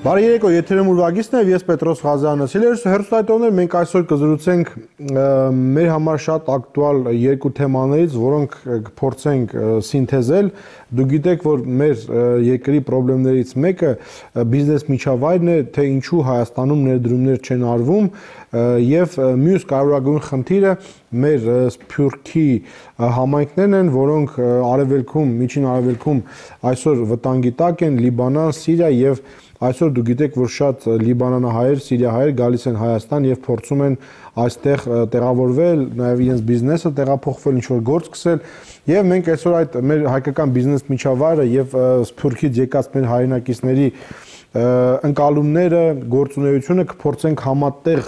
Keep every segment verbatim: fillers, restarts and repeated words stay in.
Բարի երեկո, եթերում ուրվագիցն է, ես Պետրոս Ղազարյանը։ Սիրելի հեռուստատիտողներ, մենք այսօր կզրուցենք մեր համար շատ ակտուալ երկու թեմաներից, որոնք կփորձենք սինթեզել։ Դուք գիտեք, որ մեր երկրի խնդիրներից մեկը բիզնես միջավայրն է, թե ինչու Հայաստանում ներդրումներ չեն արվում, եւ մյուս կարևորագույն խնդիրը մեր Սփյուռքի համայնքներն են, որոնք արևելքում, միջին արևելքում այսօր վտանգի տակ են, Լիբանան, Սիրիա եւ Այսօր դուք գիտեք, որ շատ լիբանանահայեր, սիրիահայեր գալիս են Հայաստան եւ փորձում են այստեղ տեղավորվել, նաեւ իրենց բիզնեսը տեղափոխվել, ինչ-որ գործ սկսել, եւ մենք այսօր այդ մեր հայկական բիզնես միջավայրը եւ Սփյուռքից եկած մեր հայրենակիցների ընկալումները, գործունեությունը կփորձենք համատեղ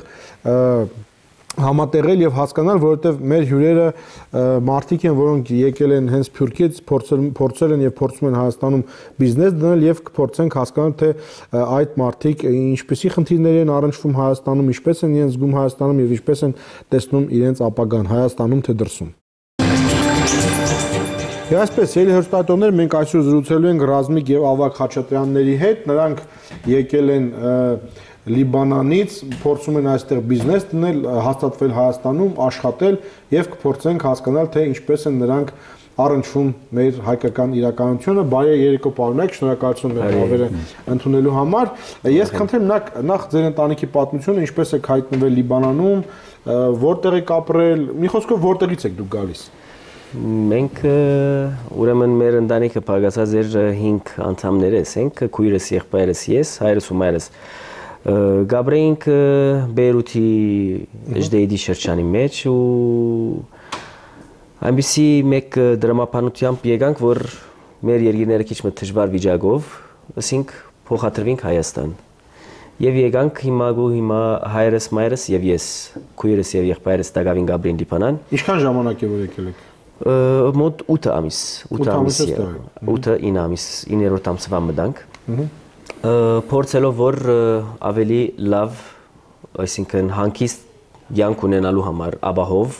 համատեղել եւ հասկանալ, որովհետեւ մեր հյուրերը մարդիկ են, որոնք եկել են հենց Սփյուռքից, փորձել են եւ փորձում են Հայաստանում բիզնես դնել եւ կփորձենք հասկանալ, թե այդ մարդիկ ինչպիսի խնդիրներ են առնչվում Հայաստանում, ինչպես են իրենց զգում Հայաստանում եւ ինչպես են տեսնում իրենց ապագան Հայաստանում թե դրսում։ Եվ այսպես, ելի հեռուստատիտողներ, մենք այսօր զրուցելու ենք Ռազմիկ եւ Ավագ Խաչատրյանների հետ, նրանք եկել են Լիբանանից, փորձում են այստեղ բիզնես դնել, հաստատվել Հայաստանում, աշխատել եւ կփորձենք հասկանալ, թե ինչպես են նրանք առնչվում մեր հայկական իրականությունը։ Բարի երեկո, պարոններ, շնորհակալություն մեր հավերը ընդունելու համար։ Ես խնդրեմ նախ ձեր ընտանիքի պատմությունը, ինչպես եք հայտնվել Լիբանանում, որտեղ եք ապրել, մի խոսքով որտեղից եք դուք գալիս։ Մենք ուրեմն մեր ընտանիքը բաղկացած էր հինգ անդամներից ենք, քույրս, եղբայրս, ես, հայրս ու մայրս։ Գաբրեինք Բեյրութի Ժդեյդի շրջանի մեջ ու այնպիսի մեկ դրամապանությամբ եկանք, որ մեր երկիրները քիչ մը դժվար վիճակով, ասենք փոխադրվինք Հայաստան։ Եվ եկանք հիմա ու հիմա հայրս, մայրս եւ ես, քույրս եւ եղբայրս Դագավին Գաբրին Լիբանան։ Ինչքան ժամանակ է որ եկել եք։ Մոտ ութ ամիս, ութ ամիս, ութ ինը ամիս, իններորդ ամսվա մտանք։ Փորձելով որ ավելի լավ, այսինքն հանգիստ յանք ունենալու համար ապահով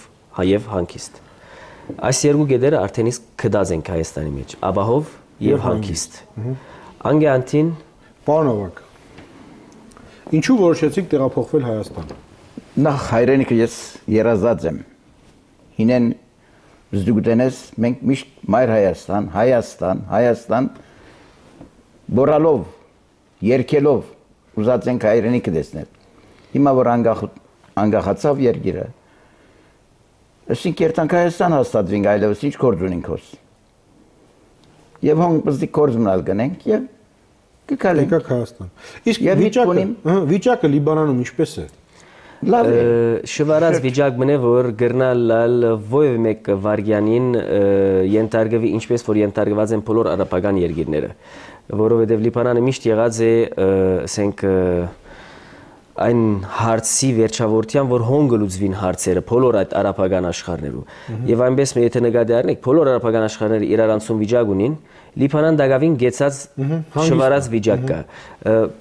եւ հանգիստ։ Այս երկու գեդերը արդեն իսկ կդած ենք Հայաստանի մեջ, ապահով եւ հանգիստ։ Անգեանտին, պարոն Ավագ, ինչու որոշեցիք տեղափոխվել Հայաստան։ Նախ հայրենիքը ես երազած եմ։ Հինեն զդուգտենես մենք միշտ մայր Հայաստան, Հայաստան, Հայաստան բորալով, երկելով ուզած ենք հայրենիքը տեսնել։ Հիմա որ անգախացավ երկիրը, ասենք երթանք Հայաստան հաստատվենք, այլևս ինչ գործ ունենք հոս։ Եվ հոն պզդի գործ մնալ գնենք եւ կգալենք Հայաստան։ Իսկ վիճակը, վիճակը Լիբանանում ինչպես է։ Շվարած վիճակ մնե, որ գրնալ ովև մեկ վարգյանին ենթարգվի, ինչպես որ ենթարգված են բոլոր արաբական երկիրները, որովհետև Լիբանանը միշտ եղած է, ասենք, այն հարցի վերջավորության, որ հոն գլուծվին հարցերը բոլոր այդ արաբական աշխարհներում։ Եվ այնպես եթե նկատի առնենք, բոլոր արաբական աշխարհները իրարանցում վիճակ ունին, Լիբանան դակավին գեցած շվարած վիճակ կա։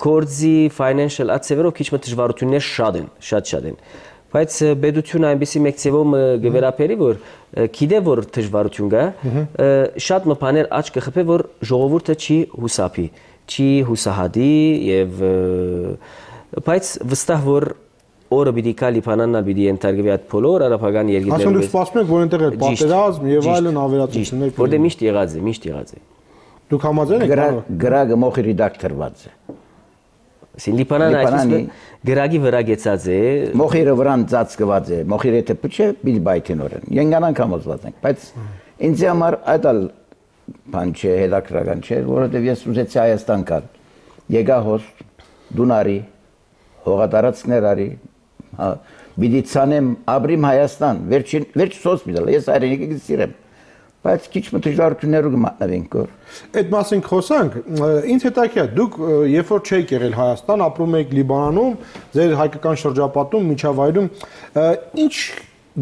Կորձի financial ացևերով քիչ մը դժվարություններ շատ են, շատ շատ են։ Բայց բեդությունը այնպեսի մեկ ցևում գվերապերի, որ գիտե որ դժվարություն կա, շատ մը բաներ աճ կխփե, որ ժողովուրդը չի հուսափի, չի հուսահատի եւ բայց վստահ որ օրը պիտի կա Լիբանանն ալ պիտի ենթարկվի այդ բոլոր արաբական երկիրներում։ Ասում դուք սպասում եք, որ այնտեղ է պատերազմ եւ այլն ավերածություններ։ Որտեղ միշտ եղած է, միշտ եղած է։ Դուք համաձայն եք։ Գրագը մոխի ռեդակտորված է։ Սին Լիբանանը այսպես գրագի վրա գեցած է։ Մոխիրը վրան ծածկված է։ Մոխիրը եթե փչե պիտի բայթենորեն։ Ենգանան կամոզված ենք, բայց ինձ համար այդ ալ բան չէ, հետաքրական չէ, որովհետեւ ես ուզեցի Հայաստան գալ։ Եկա հոս Դունարի, հողատարածքներ արի, պիտի ցանեմ ապրիմ Հայաստան, վերջին վերջ հոսպիտալ, ես հայրենիքը սիրեմ, բայց քիչ մը դժվարություններ կմատնվենք որ։ Այդ մասին խոսանք, ինձ հետաքրքիր է, դուք երբ որ չեք եղել Հայաստան, ապրում եք Լիբանանում, ձեր հայկական շրջապատում, միջավայրում, ինչ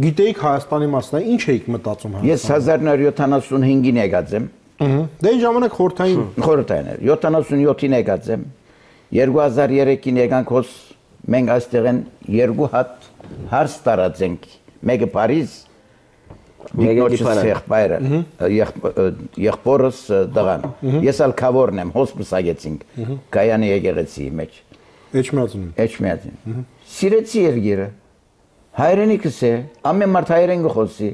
գիտեիք Հայաստանի մասին, ինչ էիք մտածում Հայաստանում։ Ես հազար նոր յոթանասունհինգին եկած եմ։ Դե այն ժամանակ խորհրդային խորհրդային էր, յոթանասունյոթին եկած եմ։ երկու հազար երեքին եկանք հոս մենք այստեղ են երկու հատ հարց տարածենք, մեկը Փարիզ, Մեկնոջս եղբայրը, եղբորս դղան։ Ես ալ քավորն եմ, հոսպս ագեցինք, կայանի եկեղեցի մեջ։ Էջմիածին։ Էջմիածին։ Սիրեցի երգիրը։ Հայրենիքս է, ամեն մարդ հայերեն գխոսի։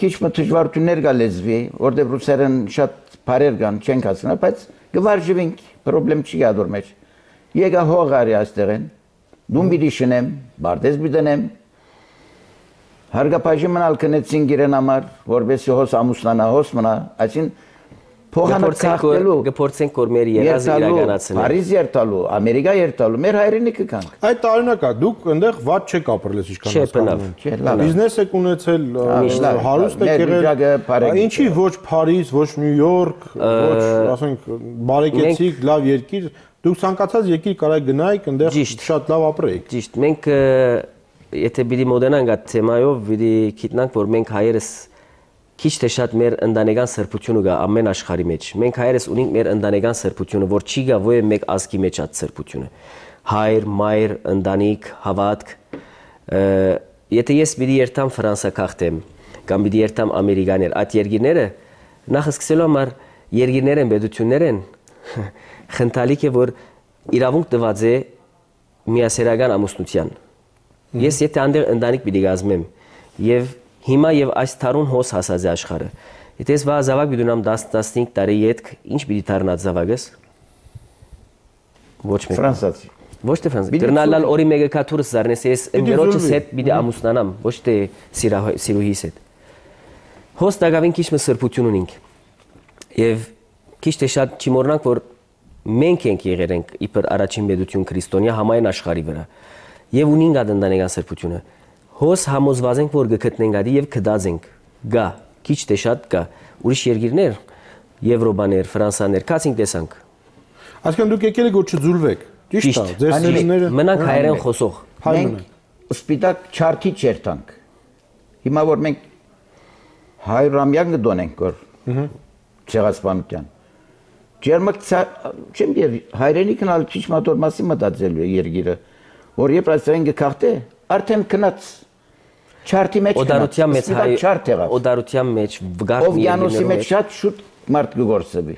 Քիչ մը դժվարություններ գա լեզվի, որտեղ ռուսերեն շատ բարեր կան, չենք հասկանա, բայց գվարժվենք, խնդրեմ չի գա դուր մեջ։ Եկա հողարի այստեղեն, դում պիտի շնեմ, բարտեզ պիտի դնեմ։ Հարգապաշի մնալ կնեցին գիրեն համար, որպեսի հոս ամուսնանա, հոս մնա, այսին փողանը կախտելու, գփորձենք որ մեր երազը իրականացնենք։ Փարիզ երթալու, Ամերիկա երթալու, մեր հայրենիքը կանք։ Այդ տարօրինակ է, դուք այնտեղ ված չեք ապրել, ես ինչքան հասկանում եմ։ Բիզնես եք ունեցել, հարուստ եք եղել։ Ինչի ոչ Փարիզ, ոչ Նյու Յորք, ոչ, ասենք, բարեկեցիկ, լավ երկիր, դուք ցանկացած երկիր կարա գնայիք, այնտեղ շատ լավ ապրեիք։ Ճիշտ, մենք եթե պիտի մոդենանք այդ թեմայով, պիտի գիտնանք, որ մենք հայերս քիչ թե շատ մեր ընտանեկան սրբությունը գա ամեն աշխարհի մեջ։ Մենք հայերս ունենք մեր ընտանեկան սրբությունը, որ չի գա ո՞ե մեկ ազգի մեջ այդ սրբությունը։ Հայր, մայր, ընտանիք, հավատք։ Եթե ես պիտի երթամ Ֆրանսա քաղտեմ, կամ պիտի երթամ Ամերիկաներ, այդ երկիրները նախ սկսելու համար երկիրներ են, պետություններ են, խնդալիք է, որ իրավունք տված է միասերական ամուսնության։ Ես եթե անդեղ ընտանիք պիտի գազմեմ եւ հիմա եւ այս թարուն հոս հասած է աշխարհը։ Եթե ես վա զավակ պիտի ունեմ դաս-տասնհինգ տարի յետք, ինչ պիտի դառնա զավակս։ Ոչ մեկ։ Ֆրանսացի։ Ոչ թե ֆրանսացի։ Դեռնալալ օրի մեկը կաթուրս զարնես ես ընկերոջս հետ պիտի ամուսնանամ, ոչ թե սիրուհիս հետ։ Հոս դակավին քիչ մը սրբություն ունենք։ Եվ քիչ թե շատ չմոռանանք, որ մենք ենք եղել ենք իբր առաջին պետություն քրիստոնյա համայն աշխարհի վրա։ Եվ ունենք այդ ընտանեկան սրբությունը։ Հոս համոզված ենք, որ գտնենք ադի եւ կդած ենք։ Գա, քիչ թե շատ գա։ Ուրիշ երկիրներ, Եվրոպաներ, Ֆրանսաներ, կացինք տեսանք։ Այսինքն դուք եկել եք որ չձուլվեք։ Ճիշտ է, ձեր սերունդները մնանք հայերեն խոսող։ Մենք սպիտակ չարթի չերտանք։ Հիմա որ մենք հայրամյակ գտոնենք որ ցեղասպանության։ Ջերմակ չեմ դեր հայրենիքն ալ քիչ մատոր մասի մտածելու երկիրը, որ երբ այսեն գքախտե արդեն քնած չարթի մեջ օդարության մեջ հայ օդարության մեջ վգարտ օվյանոսի մեջ շատ շուտ մարդ գորսեբի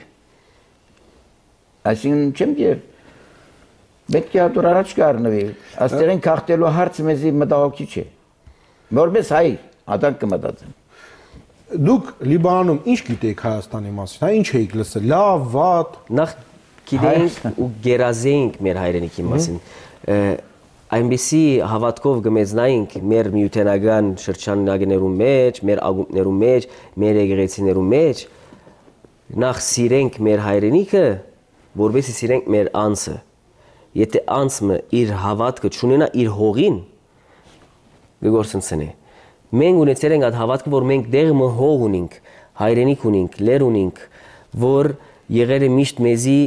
այսին չեմ դեր պետք է դուր առաջ կառնվի աստերեն քախտելու հարցը մեզի մտահոգիչ չէ որպես հայ ադանք կմտածեն դուք Լիբանանում ինչ գիտեիք Հայաստանի մասին հա ինչ էիք լսել լավ վատ նախ գիտեինք ու գերազեինք մեր հայրենիքի մասին այնպիսի հավատքով գմեծնայինք մեր միութենական շրջաններում մեջ, մեր ակումբներում մեջ, մեր եկեղեցիներում մեջ, նախ սիրենք մեր հայրենիքը, որովհետեւ սիրենք մեր անձը։ Եթե անձը իր հավատքը չունենա իր հողին, գործընծնի։ Մենք ունեցել ենք այդ հավատքը, որ մենք դեղը հող ունենք, հայրենիք ունենք, լեր ունենք, որ եղել է միշտ մեզի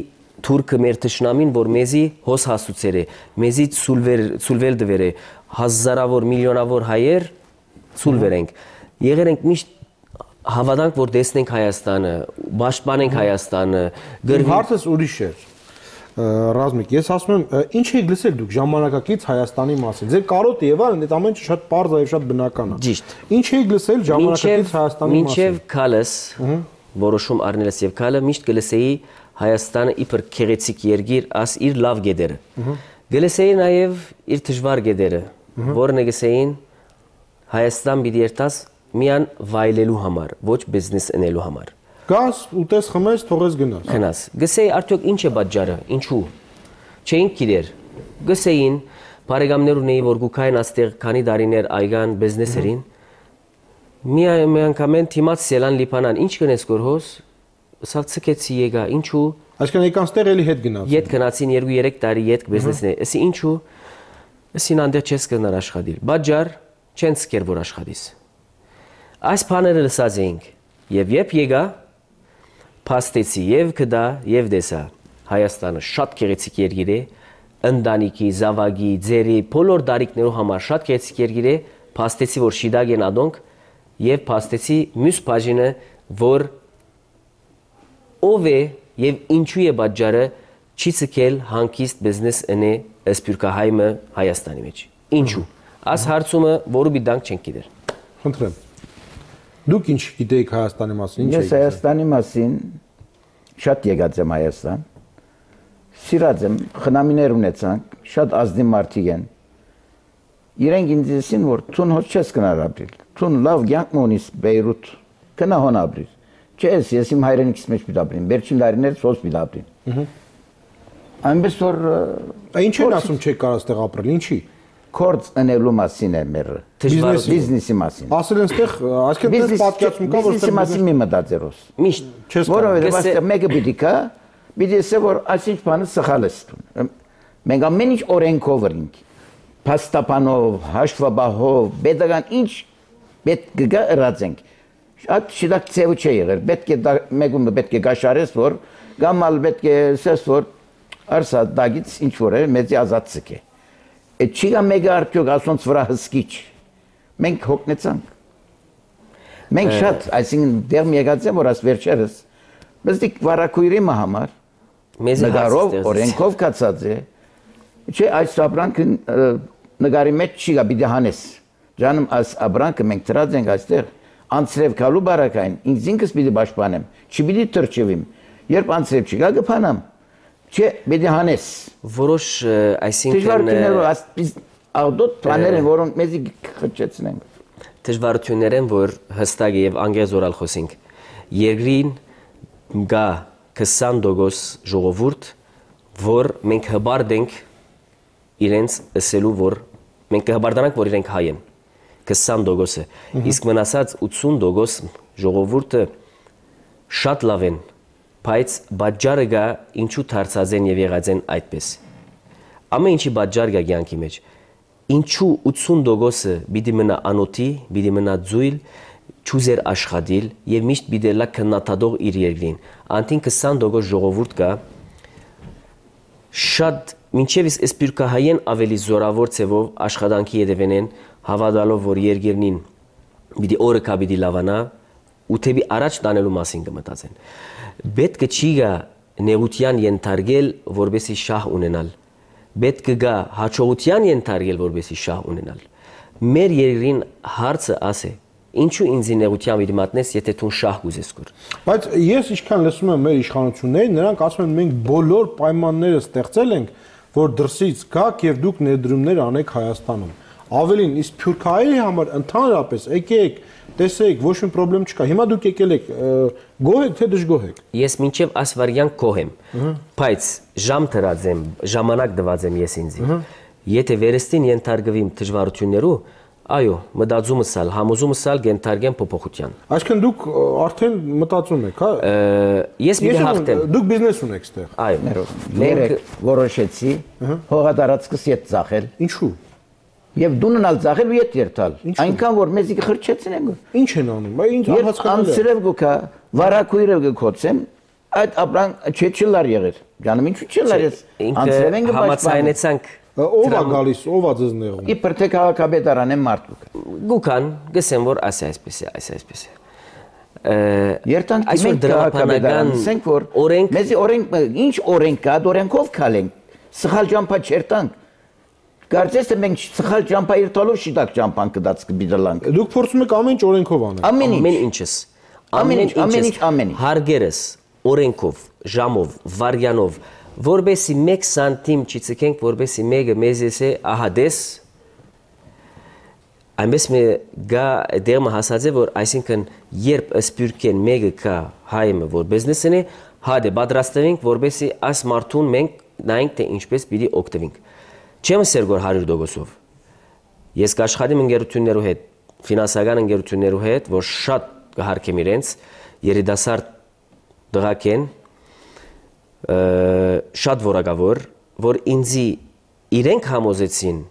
Թուրքը մեր թշնամին, որ մեզի հոս հասուցեր է, մեզի ցուլվել դվեր է, հազարավոր, միլիոնավոր հայեր ցուլվեր ենք։ Եղել ենք միշտ հավատանք, որ տեսնենք Հայաստանը, պաշտպանենք Հայաստանը։ Հարցս ուրիշ էր։ Ռազմիկ, ես ասում եմ, ինչ եք լսել դուք ժամանակակից Հայաստանի մասին։ Ձեր կարոտը եւ այլն, այդ ամենը շատ པարզ է եւ շատ բնական է։ Ճիշտ։ Ինչ եք լսել ժամանակակից Հայաստանի մասին։ Մինչեւ քալս, որոշում առնելս եւ քալը միշտ գլսեի Հայաստանը իբր քեղեցիկ երկիր, աս իր լավ գեդերը։ Գլսեի նաև իր դժվար գեդերը, որն գսեին Հայաստան պիտի երթաս միան վայելելու համար, ոչ բիզնես անելու համար։ Գաս ուտես խմես, թողես գնաս։ Գնաս։ Գսեի արդյոք ինչ է պատճառը, ինչու։ Չէին գիտեր։ Գսեին բարեկամներ ունեի, որ գուքային աստեղ քանի դարիներ այգան բիզնեսերին։ Մի անգամեն թիմած սելան լիփանան, ինչ կնես գորհոս Սա ցկեցի եկա, ինչու։ Այսինքն եկան ստեղ էլի հետ գնացին։ Ետ գնացին երկու երեք տարի ետ բիզնեսն է։ Էսի ինչու։ Էսին անդեր չես կնար աշխատել։ Բաժար չեն սկեր որ աշխատիս։ Այս բաները լսած էինք։ Եվ երբ եկա, փաստեցի եւ կդա եւ դեսա։ Հայաստանը շատ գեղեցիկ երկիր է, ընտանիքի, զավակի, ձերի, բոլոր դարիքներու համար շատ գեղեցիկ երկիր է, փաստեցի որ շիդագ են ադոնք եւ փաստեցի մյուս բաժինը որ ով է եւ ինչու է պատճառը չի ցկել հանկիստ բիզնես ընե սպյուրքահայմը Հայաստանի մեջ։ Ինչու։ Աս հարցումը որը մի դանք չենք գիտեր։ Խնդրեմ։ Դուք ինչ գիտեիք Հայաստանի մասին, ինչ եք։ Ես Հայաստանի մասին շատ եկած եմ Հայաստան։ Սիրած եմ, խնամիներ ունեցանք, շատ ազնիվ մարդիկ են։ Իրենք ինձ ասին, որ ցուն հոչ չես կնար ապրիլ։ Ցուն լավ կյանք ունիս Բեյրութ, կնա հոն ապրիլ։ Չես, ես իմ հայրենիքից մեջ պիտի ապրեմ, վերջին տարիներս ոնց պիտի ապրեմ։ Այնպես որ ինչ են ասում չեք կարող այստեղ ապրել, ինչի։ Կորց անելու մասին է մեր բիզնեսի մասին։ Ասել են այստեղ, այսինքն դες պատկերացում կա, որ բիզնեսի մասին մի մտածերոս։ Միշտ չես որովհետև այստեղ մեկը պիտի կա, պիտի ասե որ այսինչ բանը սխալ է ստուն։ Մենք ամեն ինչ օրենքով ենք։ Փաստաբանով, հաշվաբահով, պետական ինչ պետք է գա ըրացենք։ Շատ շիդակ ծեու չէ եղել։ Պետք է մեկում պետք է գաշարես որ գամալ պետք է ասես որ արսա դագից ինչ որ է մեծի ազատ ցկե։ Այդ չի գա մեկը արդյոք ասոնց վրա հսկիչ։ Մենք հոգնեցանք։ Մենք շատ, այսինքն դեռ մի եկած եմ որ աս վերջերս մեզդիկ վարակույրի համար նկարով օրենքով կացած է։ Չէ այս ապրանքը նկարի մեջ չի գա պիտի հանես։ Ջանում այս ապրանքը մենք դրած ենք այստեղ անցրև գալու բարակային, ինձ ինքս պիտի պաշտպանեմ, չպիտի թրջվեմ։ Երբ անցրև չգա կփանամ։ Չէ, պիտի հանես։ Որոշ, այսինքն դժվարություններով աղդոտ բաներ են, որոնք մեզի խճեցնեն։ Դժվարություններ են, որ հստակ եւ անգեզորալ խոսենք։ Երկրին գա քսան տոկոս ժողովուրդ, որ մենք հբարդ ենք իրենց ասելու, որ մենք կհբարդանանք, որ իրենք հայ են։ քսան տոկոսը, իսկ մնացած ութսուն տոկոս ժողովուրդը շատ լավ են, բայց բաժարը գա ինչու դարձած են եւ եղած են այդպես։ Ամեն ինչի բաժար գա կյանքի մեջ։ Ինչու ութսուն տոկոսը պիտի մնա անոթի, պիտի մնա ձույլ, չուզեր աշխատել եւ միշտ պիտի լա քննադատող իր երկրին։ Անտին քսան տոկոս ժողովուրդ կա շատ մինչև իսկ սպիրկահայեն ավելի զորավոր ցևով աշխատանքի յետևեն են հավատալով որ երկիրնին պիտի օրը կա պիտի լավանա ու թեպի առաջ տանելու մասին կմտածեն պետք է չի գա նեղության ենթարկել որբեսի շահ ունենալ պետք է գա հաջողության ենթարկել որբեսի շահ ունենալ մեր երկրին հարցը ասե ինչու ինձ նեղության մի մատնես եթե դու շահ կուզես կոր բայց ես ինչքան լսում եմ մեր իշխանություններին նրանք ասում են մենք բոլոր պայմանները ստեղծել ենք որ դրսից գաք եւ դուք ներդրումներ անեք Հայաստանում ավելին իսկ Սփյուռքահայերի համար ընդհանրապես եկեք տեսեք ոչ մի խնդրեմ չկա հիմա դուք եկել եք գոհ եք թե դժգոհ եք ես մինչեւ ասվարյան գոհ եմ բայց ժամ դրած եմ ժամանակ դված եմ ես ինձ եթե վերստին ենթարկվիմ դժվարություններու այո մտածումս ալ համոզումս ալ գենթարգեն փոփոխության այսինքն դուք արդեն մտածում եք հա ես մի հաղթեմ դուք բիզնես ունեք այստեղ այո մենք որոշեցի հողատարածքս ետ ծախել ինչու եւ դուննալ ծախել ու ետ երթալ այնքան որ մեզի խրճեցնեն ինչ են անում այ ինչ անհասկանալի է անցրև գոքա վարակույրը գոքոցեմ այդ ապրան չէ չլար եղեր ջանում ինչու չլար ես անցրև ենք համացայնեցանք ով է գալիս ով է ձեզ նեղում իբր թե քաղաքապետարան են մարդուկ գուքան գսեմ որ ասի այսպես է այս այսպես է երտանք մենք քաղաքապետարան ասենք որ մեզի օրենք ինչ օրենք կա օրենքով քալենք սխալ ճամփա չերտանք կարծես թե մենք սխալ ճամփա երտալով շիտակ ճամփան կդած կբիդլանք դուք փորձում եք ամեն ինչ օրենքով անել ամեն ինչս ամեն ինչ ամեն ինչ ամեն ինչ հարգերս օրենքով ժամով վարյանով որբեսի մեկ սանտիմ չցկենք որբեսի մեկը մեզ էսե ահա դես այնպես մի գա դերմը հասած է որ այսինքն երբ սպյուրքեն մեկը կա հայմը որ բիզնեսն է հադե պատրաստվենք որբեսի այս մարդուն մենք նայենք թե ինչպես պիտի օգտվենք չեմ ասել որ հարյուր տոկոսով ես կաշխատեմ ընկերություններու հետ ֆինանսական ընկերություններու հետ որ շատ կհարկեմ իրենց երիտասարդ դղակ են շատ որակավոր որ ինձի իրենք համոզեցին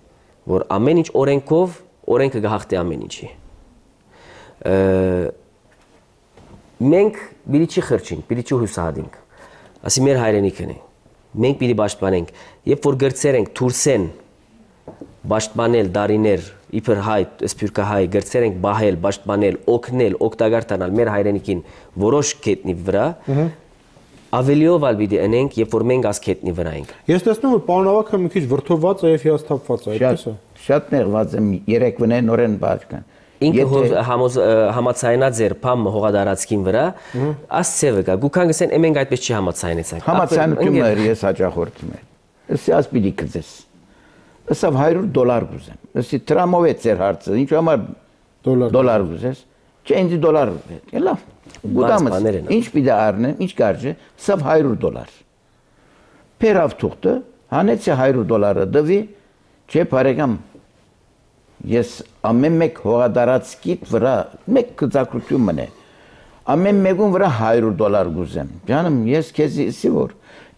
որ ամեն ինչ օրենքով օրենքը գահղթի ամեն ինչի մենք պիտի չի խրճենք պիտի չի հուսահատենք ասի մեր հայրենիքն է մենք պիտի պաշտպանենք երբ որ գրծեր ենք թուրսեն պաշտպանել դարիներ իբր հայ սփյուռքահայ գրծեր ենք բահել պաշտպանել օգնել օգտակար տանալ մեր հայրենիքին որոշ կետնի վրա Ավելիով ալ պիտի ընենք, երբ որ մենք աս քետնի վրա ենք։ Ես տեսնում եմ պարոն Ավագը մի քիչ վրթովված է եւ հիասթափված է, այդպես է։ Շատ նեղված եմ երեկվան նորեն բաժկան։ ինքը համացայնած էր փամ հողադարածքին վրա, աս ցևը կա։ Գուքան գսեն εμենք այդպես չի համացայնեցանք։ Համացայնությունը ես հաջախորդում եմ։ Ըսի ասպիդի կծես։ Ըսավ հարյուր դոլար գուզեմ։ Ըսի տրամով է ծեր հարցը, ինչ համար դոլար գուզես։ Չէ, ինձ դոլար է։ Լավ։ Գուտամս ինչ պիտի առնեմ, ինչ կարճ է, ըսավ հարյուր դոլար։ Փերավ թուղթը, հանեցի հարյուր դոլարը դվի, չէ, բարեկամ։ Ես ամեն մեկ հողադարածքիդ վրա մեկ գծակրություն մնե։ Ամեն մեկուն վրա հարյուր դոլար գուզեմ։ Ջանım, ես քեզ իսի որ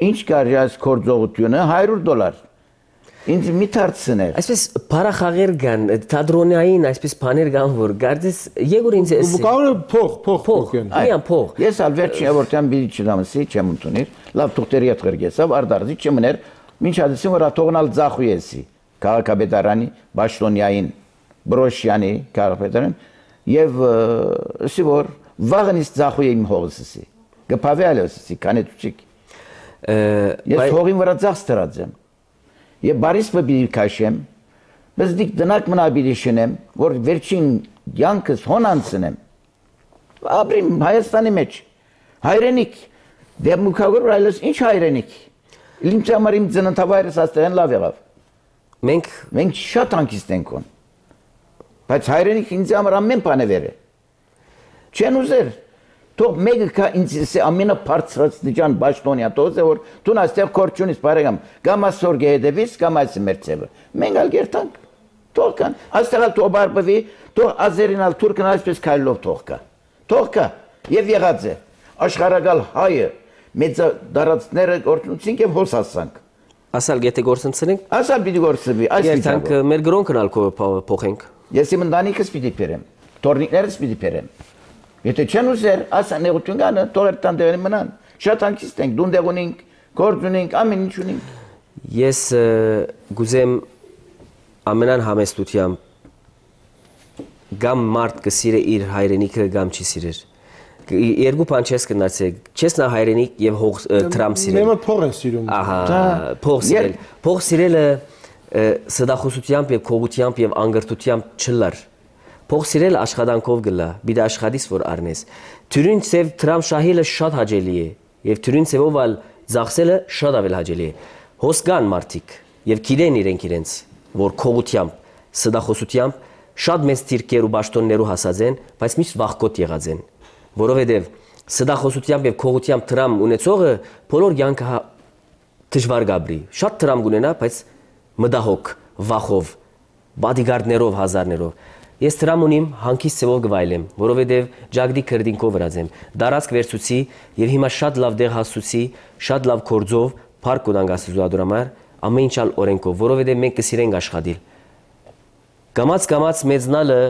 ինչ կարի այս կորձողությունը հարյուր դոլար։ Ինձ մի թարցներ։ Այսպես բարախաղեր կան, թատրոնային այսպես բաներ կան, որ գարդես եկուր ինձ էս։ Կարող է փող, փող, փող են։ Այո, փող։ Ես ալ վերջին որտյան բիդի չդամսի, չեմ ընդունիր, լավ թուղթերի հետ գրգեսավ, արդարդի չմներ, ինչ adresim որ աթողնալ ձախույեսի, քաղաքապետարանի, Բաշտոնյային, Բրոշյանի քաղաքապետարան եւ ասի որ վաղնից ձախույի իմ հողսի։ Գփավելսի կանետուչիկ։ Ես հողին վրա ձախ ստրածեմ։ Եվ բարիս պբիդի կաշեմ, բայց դիք դնակ մնա բիդի շնեմ, որ վերջին յանքս հոնանցնեմ, ապրիմ Հայաստանի մեջ, հայրենիք, դեմուկագոր այլս ինչ հայրենիք, ինձ համար իմ ծննդավայրս աստեղեն լավ եղավ, մենք շատ հանկիստ ենք on, բայց հայրենիք ինձ համար ամեն բան է վեր է, չեն ուզեր, թող մեկը կա ինձ ամենը բարձրացնիչան Բաշտոնյա տոզ է որ դու այստեղ կորչունից բարեկամ կամ ասորգե հետևից կամ այս մերցևը մենք ալ գերտանք թող կան այստեղ ալ թող բարբվի թող ազերին ալ թուրքն այսպես քայլով թող կա թող կա եւ եղած է աշխարհակալ հայը մեծ դարածները գործունեցինք եւ հոս ասանք ասալ գետե գործընծնենք ասալ պիտի գործվի այս երթանք մեր գրոնքն ալ փոխենք ես իմ ընտանիքս պիտի բերեմ տորնիկներս պիտի բերեմ Եթե չեն ուզեր, ասա նեղություն կանը, թողեր տան դեղին մնան, շատ հանկիստ ենք, դունդեղ ունենք, գործ ունենք, ամեն ինչ ունենք։ Ես գուզեմ ամենան համեստությամբ գամ մարդ կսիրե իր հայրենիքը գամ չի սիրեր։ Երկու բան չես կնացեք, չես նա հայրենիք եւ հող տրամ սիրել։ Մեմը փող են սիրում։ Ահա, փող սիրել։ Փող սիրելը սդախոսությամբ եւ քողությամբ եւ անգրտությամբ չլար։ Փող սիրել աշխատանքով գլա, բիդ աշխատից որ առնես։ Թյուրին ծև տրամ շահելը շատ հաճելի է, եւ թյուրին ծևով ալ ծախսելը շատ ավել հաճելի է։ Հոսկան մարդիկ եւ գիտեն իրենք իրենց, որ քողությամբ, սդախոսությամբ շատ մեծ թիրքեր ու բաշտոններու հասած են, բայց միշտ վախկոտ եղած են, որովհետեւ սդախոսությամբ եւ քողությամբ տրամ ունեցողը բոլոր յանքը դժվար գաբրի։ Շատ տրամ կունենա, բայց մդահոգ, վախով, բադիգարդներով, հազարներով Ես տրամ ունիմ հանկիստ ծևով գվայլեմ, որովհետև ջագդի քրդինքով վրացեմ, դարածք վերցուցի եւ հիմա շատ լավ դեղ հասուցի, շատ լավ կորձով, փառք կոդանք աստուծոդրամար, ամեն ինչ ալ օրենքով, որովհետև մենք կսիրենք աշխատել։ Գամած-գամած մեծնալը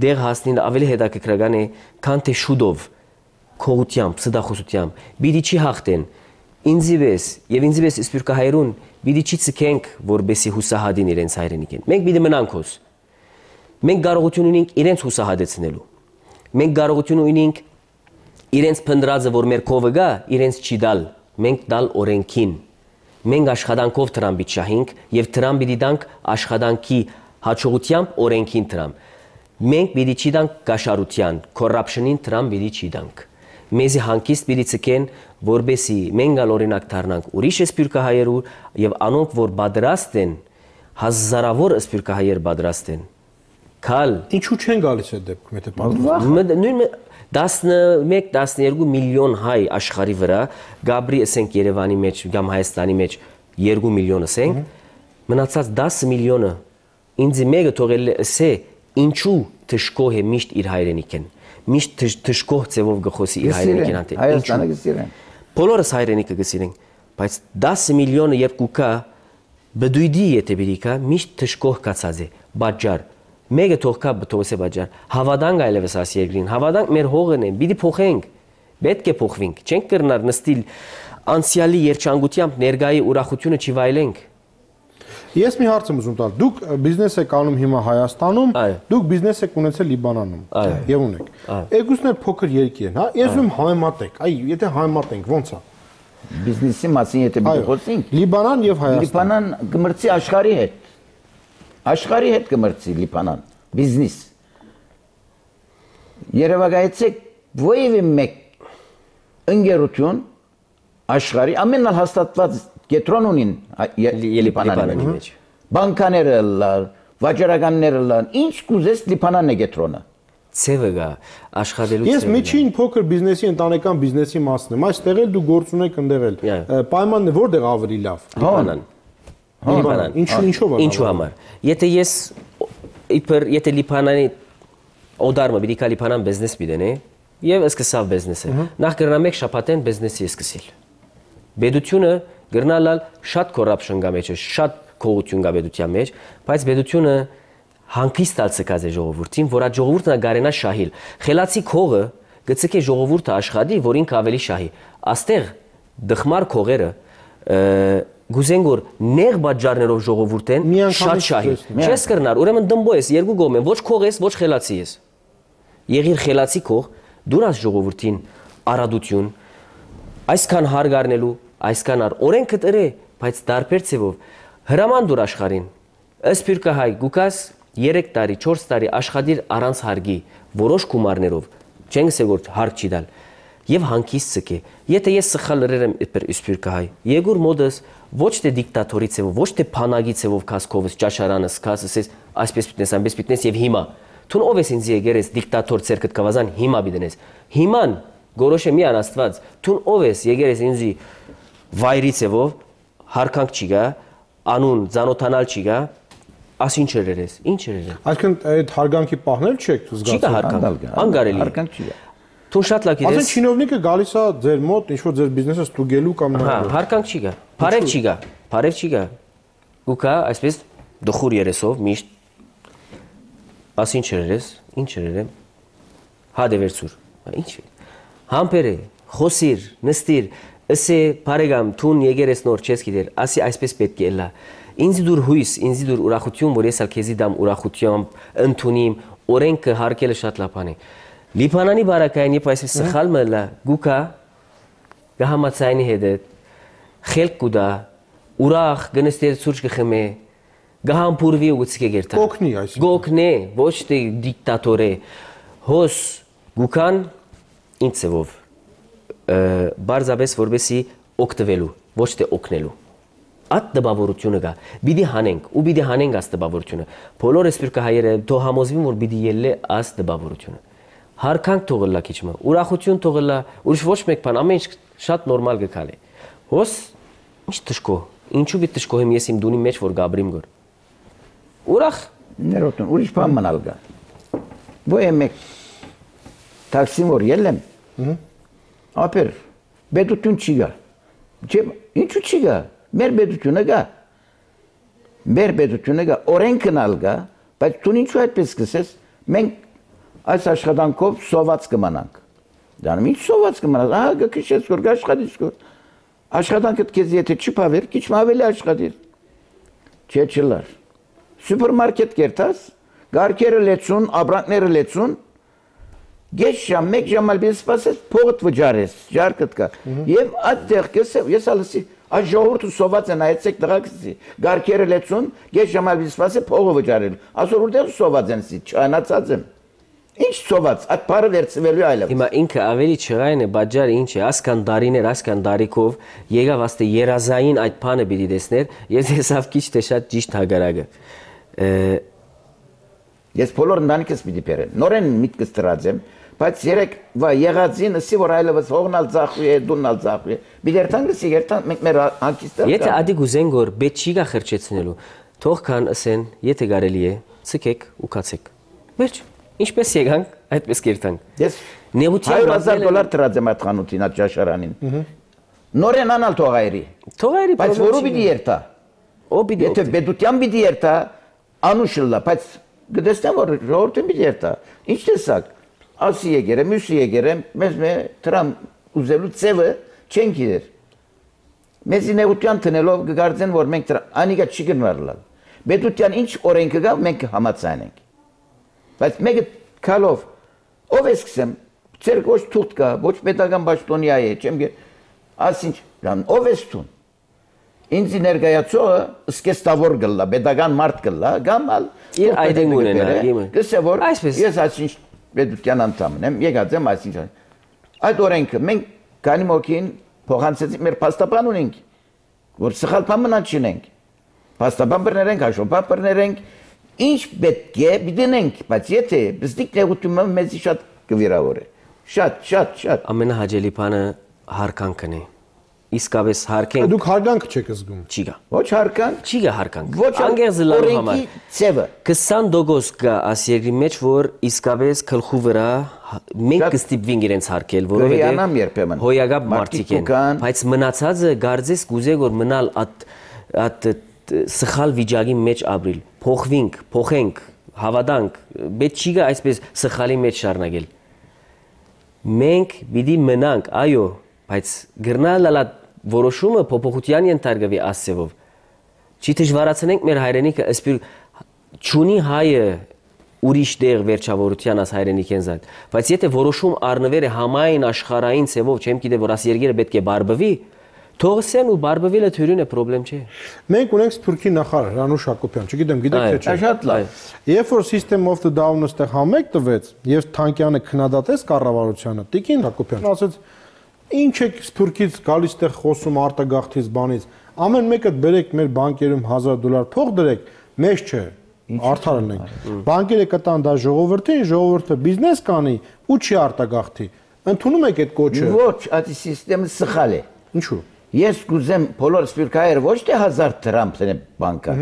դեղ հասնին ավելի հետաքրքրական է, քան թե շուտով, քողությամբ, սդախոսությամբ, բիդի չի հաղթեն, ինձի վես եւ ինձի վես սպյուրքահայրուն, բիդի չի ցկենք, որբեսի հուսահատին իրենց հայրենիքին։ Մենք բիդի մնանք հոս Մենք կարողություն ունենք իրենց հուսահատեցնելու։ Մենք կարողություն ունենք իրենց փնդրածը, որ մեր քովը գա, իրենց չի դալ։ Մենք դալ օրենքին։ Մենք աշխատանքով տրամ պիտի շահենք եւ տրամ պիտի դանք աշխատանքի հաջողությամբ օրենքին տրամ։ Մենք պիտի չի դանք կաշառության, corruption-ին տրամ պիտի չի դանք։ Մեզի հանկիստ պիտի ցկեն, որբեսի մենք ալ օրինակ դառնանք ուրիշ սպյուրքահայերու եւ անոնք որ պատրաստ են, հազարավոր սպյուրքահայեր պատրաստ են։ Քալ Ինչու չեն գալիս այդ դեպքում, եթե պատմում։ Նույն տասնմեկ տասներկու միլիոն հայ աշխարհի վրա, Գաբրի ասենք Երևանի մեջ, կամ Հայաստանի մեջ երկու միլիոն ասենք, մնացած դասը միլիոնը ինձ մեկը թողել է ասե, ինչու թշկող է միշտ իր հայրենիքին։ Միշտ թշկող ձևով գխոսի իր հայրենիքին անտե։ Հայաստանը գսիրեն։ Բոլորս հայրենիքը գսիրեն, բայց դասը միլիոնը երկու կա, բդույդի եթե բերիկա միշտ թշկող կացած է, բաժար Մեկը թողքա բթոսե բաժար հավատանք այլևս աս երկրին հավատանք մեր հողն է պիտի փոխենք պետք է փոխվենք չենք կրնար նստիլ անցյալի երջանկությամբ ներգայի ուրախությունը չվայելենք Ես մի հարց եմ ուզում տալ դուք բիզնես եք անում հիմա Հայաստանում դուք բիզնես եք ունեցել Լիբանանում եւ ունեք երկուսն էլ փոքր երկիր են հա ես ում համեմատեք այ եթե համեմատենք ո՞նց է բիզնեսի մասին եթե մենք խոսենք Լիբանան եւ Հայաստան Լիբանան գմրցի աշխարհի հետ Աշխարհի հետ կմրցի Լիբանան բիզնես Երևակայեցեք ովևէ մեկ ընկերություն աշխարհի ամենալ հաստատված կենտրոն ունին Լիբանանի մեջ։ Բանկաները լալ, վաճառականները լալ, ինչ կուզես Լիբանանն է կենտրոնը։ Ցևը գա աշխատելու Ես միջին փոքր բիզնեսի ընտանեկան բիզնեսի մասն եմ։ Այստեղ էլ դու գործ ունեք ընդեղել։ Պայմանն է որտեղ ավելի լավ։ Լիբանան։ Լիբանան։ Ինչու ինչով է։ Ինչու համար։ Եթե ես իբր եթե Լիբանանի օդարմը պիտի կա Լիբանան բիզնես պիտենե եւ սկսավ բիզնեսը։ Նախ կրնամ եք շապատեն բիզնեսի սկսել։ Բեդությունը գրնալալ շատ կոռապշն գա մեջ, շատ կողություն գա բեդության մեջ, բայց բեդությունը հանգիստ ալցկած է ժողովրդին, որ այդ ժողովուրդը գարենա շահիլ։ Խելացի քողը գցկե ժողովուրդը աշխատի, որ ինքը ավելի շահի։ Աստեղ դխմար քողերը գուզեն որ նեղ բաժարներով ժողովուրդեն շատ շահի։ Չես կրնար, ուրեմն դմբո ես, երկու գոմ են, ոչ քող ես, ոչ խելացի ես։ Եղիր խելացի քող, դուրս ժողովրդին արադություն, այսքան հարգարնելու, այսքան ար օրենքը տրե, բայց դարբեր ցևով հրաման դուր աշխարհին։ Ասպիրկա հայ գուկաս երեք տարի, չորս տարի աշխատիր առանց հարգի, որոշ գումարներով, չենք ասել որ հարկ չի դալ, եւ հանգիստ ցկե։ Եթե ես սխալ լրերեմ իբր իսպիրկա հայ, Եգուր մոդս ոչ թե դիկտատորի ցևով, ոչ թե փանագի ցևով կասկովս ճաշարանս, կասես այսպես պիտես, այնպես պիտես եւ հիմա Թուն ով ես ինձ եկերես դիկտատոր ցերկդ կվազան հիմա բիդենես։ Հիման գորոշե մի անաստված, թուն ով ես եկերես ինձի վայրի ցևով հարկանք չի գա, անուն զանոթանալ չի գա, աս ինչ երերես, ինչ երերես։ Այսինքն այդ հարգանքի պահնել չեք զգացում։ Չի գա հարկանք, անգարելի։ Հարկանք չի գա։ Թուն շատ լավ գիտես։ Ասեն չինովնիկը գալիս է ձեր մոտ, ինչ որ ձեր բիզնեսը ստուգելու կամ Հա, հարկանք չի գա։ Բարև չի գա, բարև չի գա։ Ու կա այսպես դխուր երեսով միշտ Աս ինչ երես, ինչ երերեմ, հադե վերցուր, ինչ է, համպեր է, խոսիր, նստիր, ասե բարեգամ, թուն եկերես նոր չես գիտեր, ասի այսպես պետք է լա, ինձի դուր հույս, ինձի դուր ուրախություն, որ ես ալ քեզի դամ ուրախություն, ընդունիմ, օրենքը հարկելը շատ լապան է, Լիբանանի բարակային եվ այսպես սխալ մլա, գուկա, գահամացայնի հետետ, խելք կուդա, ուրախ գնստեր ծուրջ գխմե, Գահամպուրվի ուղղցի գերտա։ Գոքնի այսինքն։ Գոքնե, ոչ թե դիկտատոր է։ Հոս գուքան ինձ ծևով բարձաբես որբեսի օգտվելու, ոչ թե օգնելու։ Այդ դպավորությունը կա։ Բիդի հանենք, ու բիդի հանենք աս դպավորությունը։ Բոլոր էսպիրկա հայերը թո համոզվին որ բիդի ելլե աս դպավորությունը։ Հարկանք թողլա քիչմը, ուրախություն թողլա, ուրիշ ոչ մեկ բան, ամեն ինչ շատ նորմալ գկալի։ Հոս ինչ տշկո, ինչու բի տշկոհեմ ես իմ դունի մեջ որ գաբրիմ գոր։ Ուրախ ներոտուն ուրիշ բան մնալ գա Ոյ մեկ տաքսին որ ելեմ ապեր բեդություն չի գա Ջեմ ինչու չի գա մեր բեդությունը գա մեր բեդությունը գա օրենքն ալ գա բայց դու ինչու այդպես կսես մենք այս աշխատանքով սոված կմնանք դառնում ինչ սոված կմնաս ահա գքշես որ աշխատես որ աշխատանքդ քեզ եթե չի բավեր քիչ ավելի աշխատիր չէ չլար Սուպերմարկետ կերտաս, գարկերը լեցուն, աբրանքները լեցուն, գեշ ժամ, մեկ ժամ ալ բիզ սպասես, փողդ վջարես, ժարկըտ կա, և այդ տեղ կեսև, ես ալսի, այդ ժողորդ ու սոված են այցեք տղակսի, գարկերը լեցուն, գեշ ժամ ալ բիզ սպասես, փողը վջարել, ասոր ուրդեղ սոված են սի, չանացած եմ, ինչ սոված, այդ պարը վերցվելու այլավ։ Հիմա ինքը ավելի չղայն է, բաջարը ինչ է, ասկան դարիներ, ասկան դարիքով, եկավ աստե երազային այդ պանը բիդի դեսներ, ես հեսավ կիչ թե շատ ճիշտ հագարագը։ Ես բոլոր ընտանիքս պիտի բերեմ, նորեն միտքս տրած եմ, բայց երեք վա եղածին ասի որ այլևս հողնալ ծախվի է, դուննալ ծախվի է, բիդ երթան գսի երթան մենք մեր հանկիստը Եթե ադի գուզեն գոր բետ չի գա խրճեցնելու, թող կան ասեն, եթե գարելի է, ցկեք ու կացեք, վերջ, ինչպես եկանք, այդպես կերտանք Ես հայր հազար դոլար տրած եմ այդ խանութին, այդ ճաշարանին, նորեն անալ թողայրի, բայց որու պիտի երթա, եթե բեդության պիտի երթա Անուշլա, բայց գտեսնեմ որ ժողովրդին պիտի երթա։ Ինչ տեսակ, ասի եկերեմ, մյուսի եկերեմ, մեզ մե տրամ ուզելու ծևը չեն գիտեր։ Մեզի նեղության տնելով կգարձեն, որ մենք անիկա չի գնվարլալ։ Բետության ինչ օրենքը գա, մենք համացանենք։ Բայց մեկը կալով, ով է սկսեմ, ծեր ոչ թուղթ կա, ոչ պետական բաշտոնյա է, չեմ գե, ասինչ, ով է ստուն։ Ինձի ներկայացողը սկեստավոր գլլա, պետական մարդ գլլա, գամալ իր այդեն ունենա, իմը։ Գսե որ Այսպես ես այսինչ պետության անդամն եմ, եկած եմ այսինքն։ Այդ օրենքը մենք քանի մոքին փոխանցեցինք մեր փաստաբան ունենք, որ սխալ բան մնաց չունենք։ Փաստաբան բռներենք, հաշվապահ բռներենք, ինչ պետք է դինենք, բայց եթե բստիկ տեղությունը մեզի շատ կվիրավորի։ Շատ, շատ, շատ։ Ամենահաճելի բանը հարկանքն է։ Իսկապես հարկանք։ Դուք հարկանք չեք զգում։ Չի գա։ Ոչ հարկանք, Չի գա հարկանք։ ոչ անգերզլալու համար։ Ցևը։ քսան տոկոս կա այս երկրի մեջ, որ իսկապես գլխու վրա մենք կստիպվենք իրենց հարկել, որովհետև հոյագապ մարդիկ են, բայց մնացածը գարձես կուզե որ մնալ at at սխալ վիճակի մեջ ապրիլ, փոխվենք, փոխենք, հավատանք, պետք չի գա այսպես սխալի մեջ շարունակել։ Մենք պիտի մնանք, այո, բայց գրնալալա որոշումը փոփոխության ենթարկվի ասեվով։ Չի դժվարացնենք մեր հայրենիքը, ասպիր ճունի հայը ուրիշ դեղ վերջավորության աս հայրենիքեն զատ, բայց եթե որոշում առնվեր է համայն աշխարհային ցևով, չեմ գիտե որ աս երկիրը պետք է բարբվի, թողսեն ու բարբվելը թյուրին է խնդրեմ չէ։ Մենք ունենք Սփյուռքի նախարար Անուշ Հակոբյան, չգիտեմ, գիտեք թե չէ։ Շատ լավ։ Երբ որ System of the Down-ը ստեղ համեք տվեց, եւ Թանկյանը քննադատեց կառավարությանը, Տիկին Հակոբյան ասաց. «Ինչ եք Սփյուռքից գալիս տեղ խոսում արտագաղթից բանից, ամեն մեկը բերեք մեր բանկերում հազար դոլար փող դրեք, մեզ չէ»։ Արդարն ենք։ Բանկերը կտան դա ժողովրդին, ժողովուրդը բիզնես կանի ու չի արտագաղթի։ Ընդունում եք այդ կոչը։ Ոչ, այդ համակարգը սխալ է։ Ինչու։ Ես կուզեմ բոլոր սփյուռքահայերը ոչ թե հազար դրամ տնե բանկա։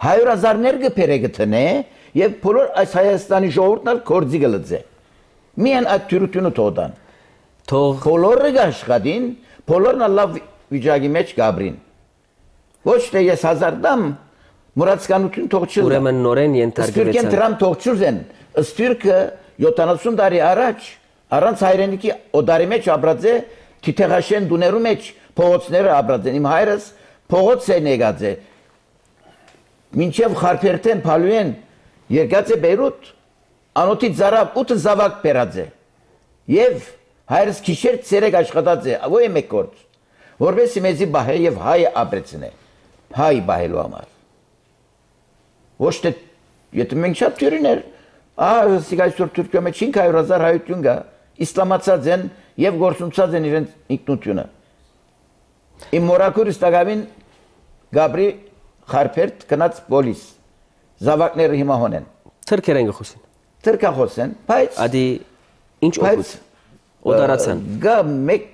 հայր հազարներ կփերե գտնե եւ բոլոր այս Հայաստանի ժողովուրդն ալ կորձի գլծե։ Միայն այդ թյուրությունը թողան։ Թող բոլորը աշխատին, բոլորն լավ վիճակի մեջ գաբրին։ Ոչ թե ես հազար դամ մուրացկանություն թողչել։ Ուրեմն նորեն ենթարկվեցան։ Սփյուռքեն դրամ թողչուզեն։ Սփյուռքը յոթանասուն տարի առաջ առանց հայրենիքի օդարի մեջ ապրած է, թիթեղաշեն դուներու մեջ փողոցները ապրած են։ Իմ հայրս փողոց է եկած է։ Մինչև Խարփերտեն Փալուեն եկած է Բեյրութ, անոթի ծարավ ութ զավակ բերած է։ Եվ հայրս քիշեր ցերեկ աշխատած է, ո՞ե մեկ գործ։ Որովհետեւ մեզի բահե եւ հայ ապրեցնե։ Հայ բահելու համար։ Ոչ թե եթե մենք շատ թյուրիներ, ահա սիգայսոր Թուրքիա մեջ cinque mille հայություն կա, իսլամացած են եւ գործունեացած են իրենց ինքնությունը։ Իմ մորակուրս տակավին Գաբրի Խարփերտ կնած պոլիս զավակները հիմա հոնեն։ Թրքերեն գխոսին։ Թրքախոսեն, բայց Ադի ինչ օգուտ։ Օդարացան։ Գա մեկ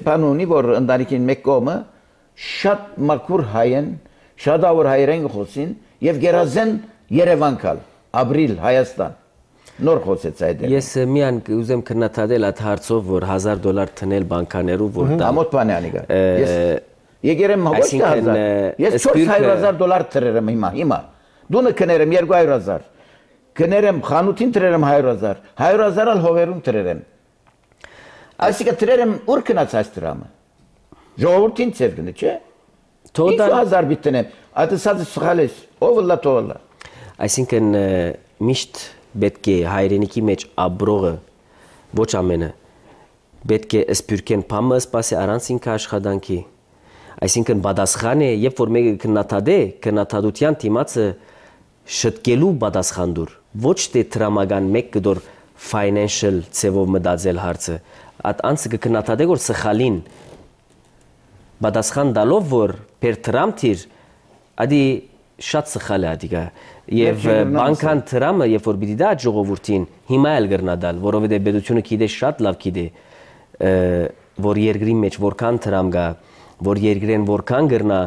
բանունի որ ընտանիքին մեկ կողմը շատ մաքուր հայեն, շատավոր հայերեն գխոսին եւ գերազեն Երևան կալ, ապրիլ Հայաստան։ Նոր խոսեց այդ։ Ես միան ուզեմ քննադատել այդ հարցով, որ հազար դոլար տնել բանկաներու, որ դա ամոթ բան է անիկա։ Ես եկերեմ ոչ թե հազար։ Ես չորս հարյուր հազար դոլար տրերեմ հիմա, հիմա։ Դունը կներեմ երկու հարյուր հազար։ Կներեմ խանութին տրերեմ հարյուր հազար, հարյուր հազար ալ հողերում տրերեմ։ Այսինքն տրերեմ ուր կնաց այս դրամը։ Ժողովրդին ցերկնի, չէ։ Թոդա հազար բիտնեմ։ Այդ ասած սխալ է, ով լա թողլա։ Այսինքն միշտ պետք է հայրենիքի մեջ ապրողը ոչ ամենը պետք է սփյուռքեն փամը սպասի առանց ինքը աշխատանքի։ Այսինքն պատասխան է, երբ որ մեկը քննադատե, քննադատության դիմացը շտկելու պատասխան դուր, ոչ թե դրամական մեկ կդոր financial ցևով մտածել հարցը, այդ անցը կքննադատե որ սխալին պատասխան տալով որ per դրամ թիր, ադի շատ սխալ է ադիգա եւ բանկան դրամը երբ որ պիտի դա ժողովրդին հիմա էլ գրնադալ, որովհետեւ պետությունը գիտե շատ լավ գիտե որ երկրի մեջ որքան դրամ կա, որ երկրեն որքան գրնա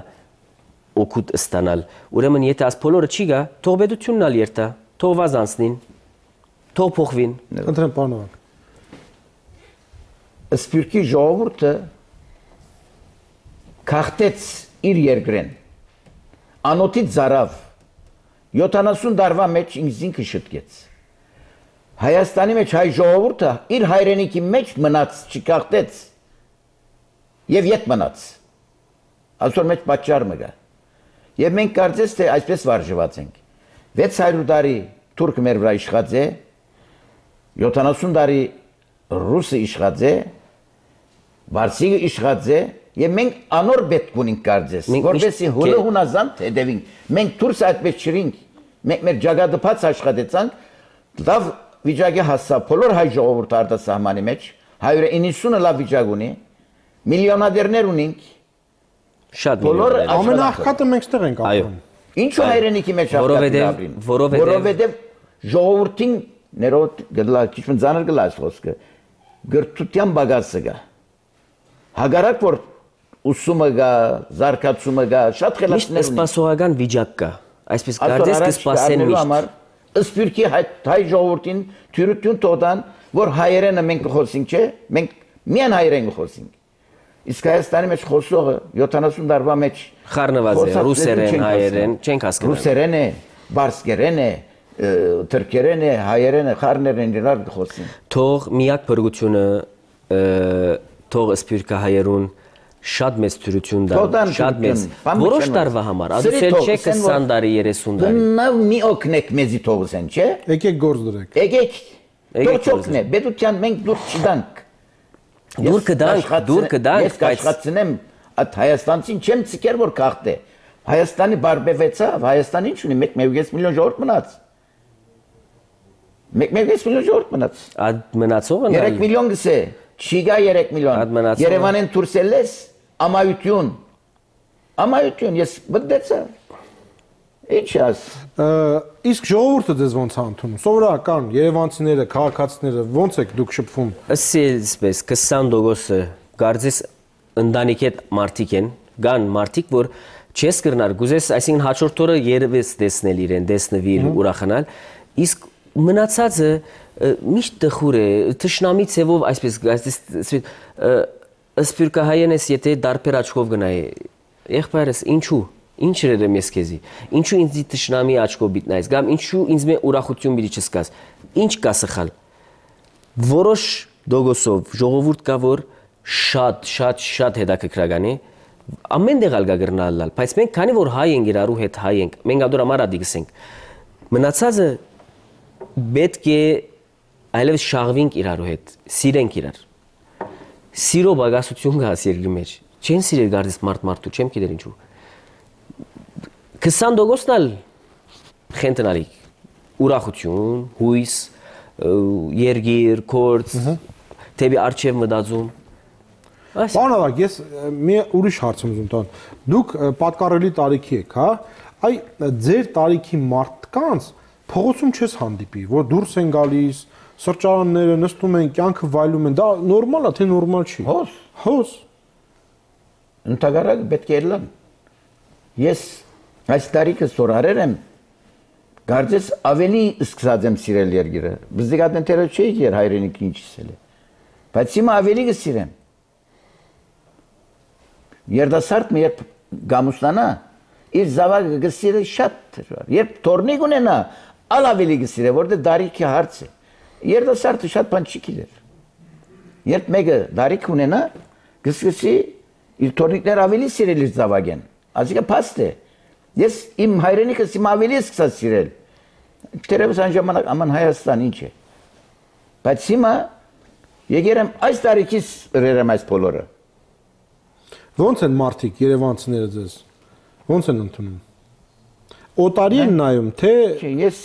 օգուտ ստանալ։ Ուրեմն եթե աս բոլորը չի գա, թող պետությունն ալ երթա, թող վազանցնին, թող փոխվին։ Ընտրեմ պարոնակ։ Սփյուռքի ժողովուրդը քաղտեց իր երկրեն։ Անոթից զարավ յոթանասուն տարվա մեջ ինքնին շտկեց։ Հայաստանի մեջ հայ ժողովուրդը իր հայրենիքի մեջ մնաց, չքաղտեց եւ յետ մնաց։ Այսօր մեջ պատճառ մը գա։ Եվ մենք կարծես թե այսպես վարժված ենք։ վեց հարյուր տարի թուրքը մեր վրա իշխած է, յոթանասուն տարի ռուսը իշխած է, վարսիկը իշխած է, եւ մենք անոր պետք ունենք կարծես, որովհետեւ հոլը հունազանդ հետևինք։ Մենք դուրս այդպես չրինք, մենք մեր ջագադը բաց աշխատեցանք, լավ վիճակի հասավ բոլոր հայ ժողովուրդը արտասահմանի մեջ, հայերը իննսունը լավ վիճակ ունի, միլիոնադերներ ունենք։ Շատ բոլոր ամենաաղքատը մենք ստեղ ենք ապրում։ Ինչու հայրենիքի մեջ աղքատը ապրին։ Որովհետև ժողովրդին ներոտ գլա քիչ մնցանր գլաս խոսքը գրթության բագասը գա։ Հագարակ որ ուսումը գա, զարգացումը գա, շատ խելացներ ունի։ Սպասողական վիճակ կա։ Այսպես կարծես կսպասեն միշտ։ Սպիրկի հայ ժողովրդին թյուրություն տոտան, որ հայերենը մենք խոսենք, չէ՞, մենք միայն հայերեն խոսենք։ Իսկ Հայաստանի մեջ խոսողը յոթանասուն տարվա մեջ խառնված է ռուսերեն, հայերեն, չենք հասկանում։ Ռուսերեն է, բարսկերեն է, թրքերեն է, հայերեն է, խառներեն իրար խոսին։ Թող միակ փրկությունը թող սպիրկա հայերուն շատ մեծ թյուրություն դա, շատ մեծ։ Որոշ տարվա համար, ադուսել չէ քսան տարի, երեսուն տարի։ Նա մի օգնեք մեզի թողսեն, չէ՞։ Եկեք գործ դրեք։ Եկեք։ Դոչոքն է, բեդության մենք դուր չդանք։ Դուր կդանք, դուր կդանք, ես կաշխատցնեմ այդ Հայաստանցին չեմ ցիկեր որ քաղտ է։ Հայաստանի բարբևեցավ, Հայաստան ինչ ունի, մեկ միլիոն ժողովուրդ մնաց։ մեկ միլիոն ժողովուրդ մնաց։ Այդ մնացողը երեք միլիոն գսե, չիգա երեք միլիոն։ Երևանեն դուրսելես ամայություն։ Ամայություն, ես բդեցա։ Ինչ աս։ Իսկ ժողովուրդը ձեզ ոնց է ընդունում։ Սովորական երևանցիները, քաղաքացիները ոնց եք դուք շփվում։ Ասես, քսան տոկոսը կարծես ընտանիքի հետ մարդիկ են, կան մարդիկ, որ չես կրնար, գուզես, այսինքն հաջորդ օրը երևես տեսնել իրեն, տեսնվիր, ուրախանալ, իսկ մնացածը միշտ տխուր է, թշնամի ցևով այսպես, սպիրկահայեն ես, եթե դարբեր աչքով գնայի, եղբայրս, ինչու, ինչ երեմ ես քեզի, ինչու ինձ թշնամի աչքով բիտնայես, կամ ինչու ինձ մե ուրախություն բիդի չսկաս, ինչ կա սխալ, որոշ դոգոսով ժողովուրդ կա, որ շատ, շատ, շատ հետաքրքրական է, ամեն դեղ ալգա գրնալալ, բայց մենք քանի որ հայ ենք իրարու հետ հայ ենք, մենք ադոր համար ադի գսենք, մնացածը պետք է այլևս շաղվենք իրարու հետ, սիրենք իրար, սիրո բագասություն կա երկրի մեջ, չեն սիրել գարդես մարդ մարդու, չեմ գիտեր ինչու, քսան տոկոսն ալ խենտնալիք, ուրախություն, հույս, երգիր, կորց, թեպի արջև մտածում։ Պարոն Ավագ, ես մի ուրիշ հարց եմ ուզում տան։ Դուք պատկառելի տարիքի եք, հա? Այ ձեր տարիքի մարդկանց փողոցում չես հանդիպի, որ դուրս են գալիս, սրճարանները նստում են, կյանքը վայելում են, դա նորմալ է, թե նորմալ չի։ Հոս, հոս։ Ընդհանրապես պետք է լան։ Ես այս տարիքը սորարեր եմ, կարծես ավելի սկսած եմ սիրել երկիրը։ Բզդիկատնտերը չէի եր հայրենիքի ինչ սիրել է։ Բայց հիմա ավելի կսիրեմ։ Երդասարտը երբ գամուստանա, իր զավակը կսիրե շատ դժվար։ Երբ թորնիկ ունենա, ալ ավելի կսիրե, որտեղ դարիքի հարց է։ Երդասարտը շատ բան չի գիտեր։ Երբ մեկը դարիք ունենա, կսկսի իր թորնիկներ ավելի սիրել իր զավակեն։ Այսինքն փաստ է։ Ես իմ հայրենիքս իմ ավելի սկսած սիրել։ Տերևս այն ժամանակ աման Հայաստան ինչ է։ Բայց հիմա եկել եմ այս տարիքից ռերեմ այս բոլորը։ Ոնց են մարդիկ երևանցիները ձեզ։ Ոնց են ընդունում։ Օտարի են նայում, թե ես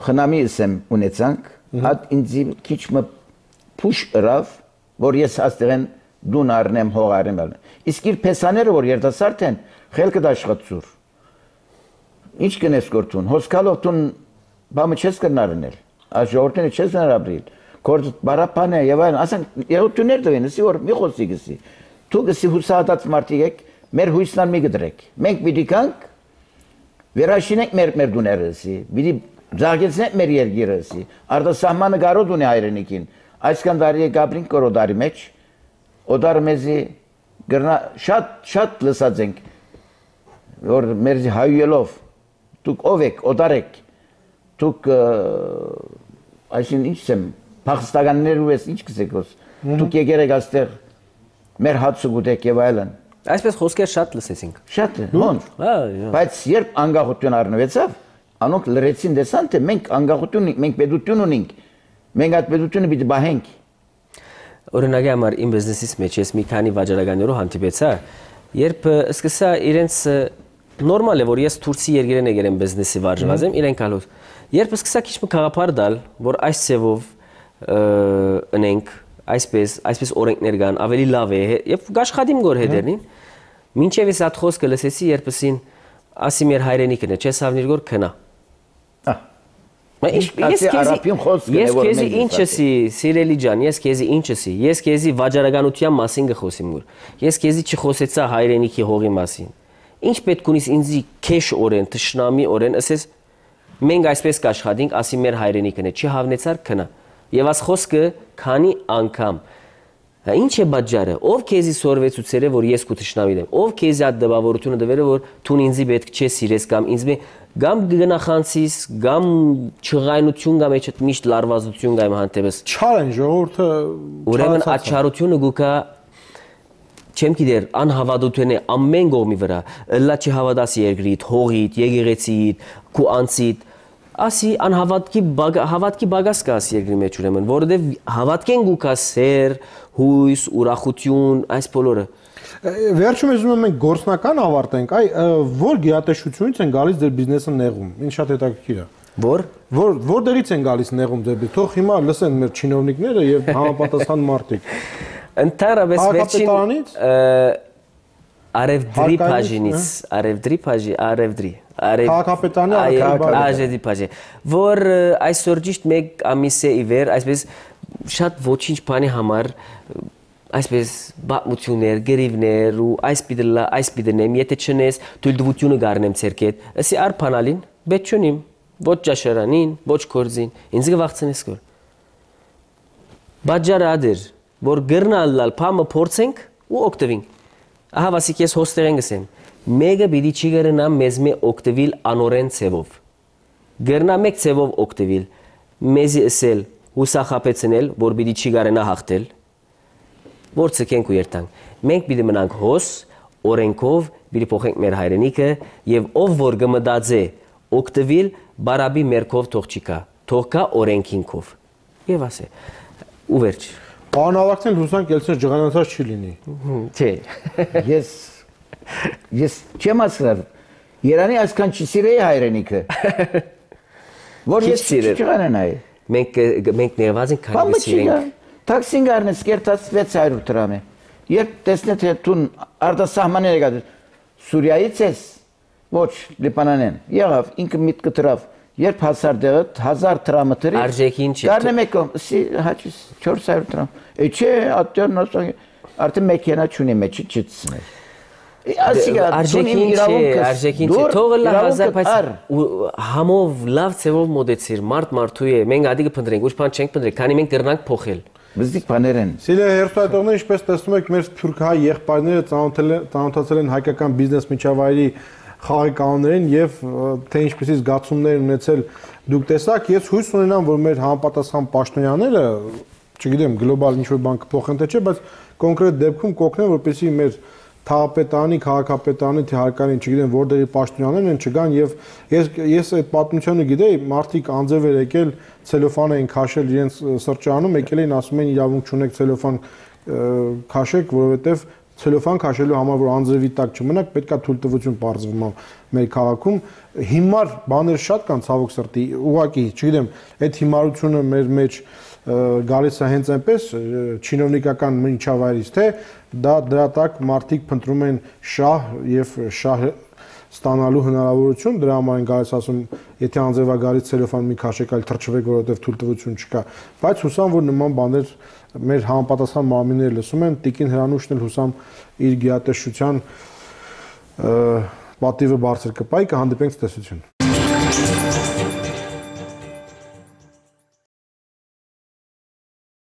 խնամիս եմ ունեցանք, հատ ինձ քիչ մը փուշ ըրավ, որ ես աստեղեն դուն առնեմ, հող առնեմ։ Իսկ իր փեսաները, որ երիտասարդ են, խելքը դաշխատցուր։ Ինչ կնես գործուն, հոսքալով տուն բամը չես կրնարնել, այս ժողովրդները չես նարաբրիլ, կորդ բարապան է և այլն, ասեն, եղոտություններ դվեն, ասի, որ մի խոսի գսի, դու գսի հուսահատած մարդիկ եք, մեր հույսնան մի գդրեք, մենք պիտի կանք, վերաշինենք մեր դուները ասի, պիտի զարգեցնենք մեր երկիրը ասի, արտասահմանը գարոտ ունի հայրենիքին, այսքան դարի է գաբրինք կոր օդարի մեջ, օդարը մեզի շատ շատ լսած ենք, որ մերզի հայույելով, դուք ով եք, օդար եք, դուք այսին ինչ եմ, փախստականներու ես ինչ կսեք ոս, դուք եկեր եք աստեղ, մեր հացը գուտեք և այլն։ Այսպես խոսքեր շատ լսեցինք։ Շատ է, հոնց, բայց երբ անգախություն առնվեցավ, անոնք լրեցին դեսան, թե մենք անգախություն ունենք, մենք պետություն ունենք, մենք այդ պետությունը պիտի բահենք։ Օրինակի համար իմ բիզնեսից մեջ ես մի քանի վաճառականներով հանդիպեցա, երբ սկսա իրենց նորմալ է, որ ես Թուրքիի երկրին եկել եմ բիզնեսի վարժված եմ, իրենք ալոց Երբ սկսա քիչ մի գաղափար դալ, որ այս ծևով ընենք, այսպես, այսպես օրենքներ կան, ավելի լավ է, եւ գաշխատիմ գոր հետերնին, մինչեւ ես այդ խոսքը լսեցի, երբսին ասի մեր հայրենիքն է, չես ավնիր գոր քնա։ Ես քեզի ինչսի, սիրելի ջան, ես քեզի ինչսի, ես քեզի վաճառականության մասին գխոսիմ գոր։ Ես քեզի չխոսեցա հայրենիքի հողի մասին։ Ինչ պետք ունիս ինձի քեշ օրեն, թշնամի օրեն, ասես մենք այսպես կաշխատենք, ասի մեր հայրենիքն է, չհավնեցար քնա։ Եվ աս խոսքը քանի անգամ։ Ինչ է բաժարը, ով քեզի սորվեցուցերը, որ ես քու թշնամին եմ, ով քեզի այդ դպավորությունը դվերը, որ դու ինձի պետք չէ սիրես կամ ինձ մե գամ գնախանցիս, գամ չղայնություն կամ էջ միշտ լարվածություն կամ հանդեպս։ Չար են ժողովուրդը։ Ուրեմն այդ չարությունը գուկա չեմ գիտեր անհավատություն է ամեն կողմի վրա, լա չհավատաս երկրիդ, հողիդ, եկեղեցիդ, քու անցիդ, ասի անհավատքի հավատքի բագաս կա աս երկրի մեջ ուրեմն, որովհետև հավատքեն գուկա սեր, հույս, ուրախություն, այս բոլորը։ Վերջում ես ուզում մենք գործնական ավարտենք, այ որ գիտատեսչությունից են գալիս ձեր բիզնեսը նեղում, ինչ շատ հետաքրքիր է։ Որ որ որտեղից են գալիս նեղում ձեր բիզնեսը, թող հիմա լսեն մեր չինովնիկները եւ համապատասխան մարդիկ։ Ընդհանրապես վերջին Արևդրի բաժինից, Արևդրի բաժի, Արևդրի, Քաղաքապետարանի Արևդրի բաժի, որ այսօր ճիշտ մեկ ամիս է ի վեր, այսպես շատ ոչինչ բանի համար, այսպես բացմություններ, գերիվներ ու այս պիտելա, այս պիտենեմ, եթե չնես, թույլտվությունը գարնեմ ցերկետ, ասի արփանալին, բետ չունիմ, ոչ ճաշարանին, ոչ կորձին, ինձ գվախցնես կոր։ Բաժարը ադեր, որ գրնալալ փամը փորձենք ու օգտվենք։ Ահա վասիկ ես հոստերեն գսեմ, մեկը պիտի չի գրնա մեզ մե օգտվիլ անորեն ծևով։ Գրնա մեկ ծևով օգտվիլ, մեզի ասել, հուսախապեցնել, որ պիտի չի գարենա հաղթել, որ ցկենք ու երթանք։ Մենք պիտի մնանք հոս, օրենքով, պիտի փոխենք մեր հայրենիքը եւ ով որ գմդածե օգտվիլ բարաբի մերքով թող չկա, թող կա օրենքինքով։ Եվ ասե, ու վերջ։ Պարոն Ավագցյան, հուսանք ելցեր ջղանացած չի լինի։ Չէ։ Ես ես չեմ ասել, Երանի այսքան չսիրեի հայրենիքը։ Որ ես չջղանանայի։ Մենք մենք ներված ենք քանի սիրենք։ Տաքսին գարնես կերտած վեց հարյուր դրամ է։ Երբ տեսնես թե դու արտասահմաններ եկած Սուրիայից ես, ոչ Լիբանանեն։ Եղավ ինքը միտքը դրավ։ Երբ հազար դեղը հազար դրամը դրի։ Արժեքին չի։ Գարնեմ եկում, սի հաճիս չորս հարյուր դրամ։ Է չէ, ատյորն ասա արդեն մեքենա չունի մեջի չծնել։ Արժեքին չի, արժեքին չի։ Թողը լա հազար բայց համով լավ ծևով մոդեցիր, մարդ մարդու է։ Մենք ադի կփնտրենք, ոչ բան չենք փնտրել, քանի մենք դեռնանք փոխել։ Բզիկ բաներ են։ Սիրելի հերթայտողներ, ինչպես տեսնում եք, մեր սփյուռքահայ եղբայրները ծանոթացել են հայկական բիզնես միջավայրի խաղի կանոններին եւ թե ինչպեսի զգացումներ ունեցել դուք տեսաք, ես հույս ունենամ, որ մեր համապատասխան պաշտոնյաները, չգիտեմ, գլոբալ ինչ-որ բան կփոխեն թե չէ, բայց կոնկրետ դեպքում կօգնեն, որպեսզի մեր թաղապետարանի, քաղաքապետարանի, թե հարկային, չգիտեմ, որտեղի պաշտոնյաներն են չգան եւ ես ես այդ պատմությունը գիտեի, մարդիկ անձև էր եկել, ցելոֆան էին քաշել իրենց սրճարանում, եկել էին ասում են իրավունք չունեք ցելոֆան քաշեք, որովհետեւ ցելոֆան քաշելու համար որ անձրևի տակ չմնաք, պետքա թույլտվություն բարձվում մեր քաղաքում։ Հիմար բաներ շատ կան ցավոք սրտի, ուղղակի, չգիտեմ, այդ հիմարությունը մեր մեջ գալիս է հենց այնպես չինովնիկական միջավայրից, թե դա դրա տակ մարդիկ փնտրում են շահ եւ շահ ստանալու հնարավորություն, դրա համար են գալիս ասում, եթե անձևա գալիս ցելոֆան մի քաշեք, այլ թրջվեք, որովհետեւ թույլտվություն չկա, բայց հուսամ, որ նման բաներ մեր համապատասխան մարմինները լսում են, Տիկին Հրանուշն էլ հուսամ իր գիատեսչության պատիվը բարձր կպայի, կհանդիպենք ցտեսություն։